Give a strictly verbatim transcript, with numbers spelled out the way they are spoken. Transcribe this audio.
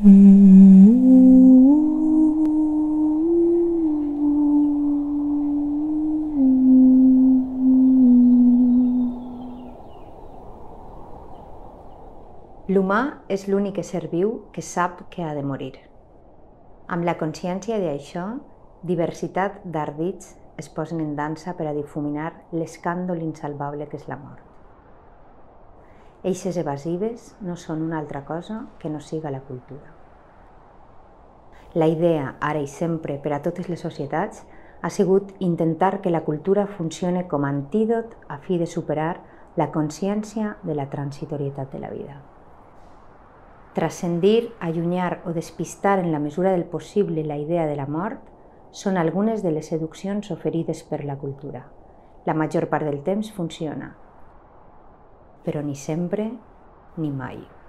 L'humà és l'únic ésser viu que sap que ha de morir. Amb la consciència d'això, diversitat d'ardits es posen en dansa per a difuminar l'escàndol insalvable que és la mort. Eixes evasives no són una altra cosa que no siga la cultura. La idea, ara i sempre, per a totes les societats, ha sigut intentar que la cultura funcione com a antídot a fi de superar la consciència de la transitorietat de la vida. Transcendir, allunyar o despistar en la mesura del possible la idea de la mort són algunes de les seduccions oferides per la cultura. La major part del temps funciona, però ni sempre ni mai.